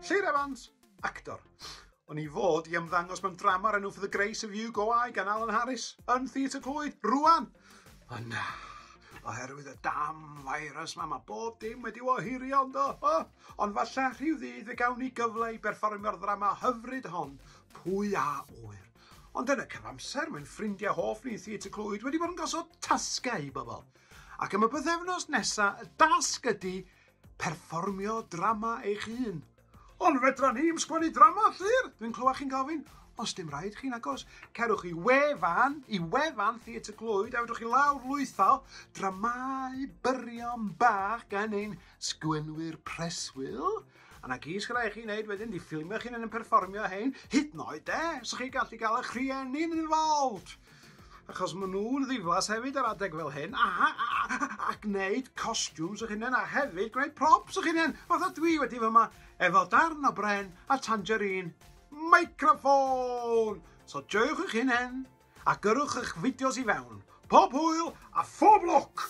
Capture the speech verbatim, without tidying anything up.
Llyr Evans, actor. O'n i fod i ymddangos mewn drama o'r enw For the Grace of You Go I gan Alan Harris yn Theatr Clwyd, rwan. Ond na, oherwydd y damn virus ma, mae bob dim wedi ohirio yndo. Oh, ond falle rhyw ddydd fe gawn ni gyfle i berfformio'r ddrama hyfryd hon, Pwy a Ŵyr. Ond yn y cyfamser, mae'n ffrindiau hoff ni Theatr Clwyd wedi bod yn gosod tasgau i bobl. Ac am y bythefnos nesaf, y dasg ydy perfformio drama eich hun. Ond fedra ni'm sgwennu drama, Llyr! Dwi'n clywed chi'n gofyn. Os dim rhaid chi'n agos, cerwch i wefan, i wefan Theatr Clwyd, a fedrwch chi lawr lwytho dramau byrion bach gan ein sgwenwyr preswyl. A na gyd sy'n rhaid chi wneud wedyn, di ffilmio chi'n yn perfformio hein, hyd yn oed de, so chi'n gallu gael eich rhieni'n involved. Achos maen nhw'n ddiflas hefyd ar adeg fel hyn, a, a, a, a gwneud costumes eich hunain, a hefyd gwneud props eich hunain. Fatha dwi wedi fyma, efo darn o bren a tangerine microphone. So joiwch eich hunain, a gyrrwch eich fideos i fewn. Pob hwyl a phob lwc!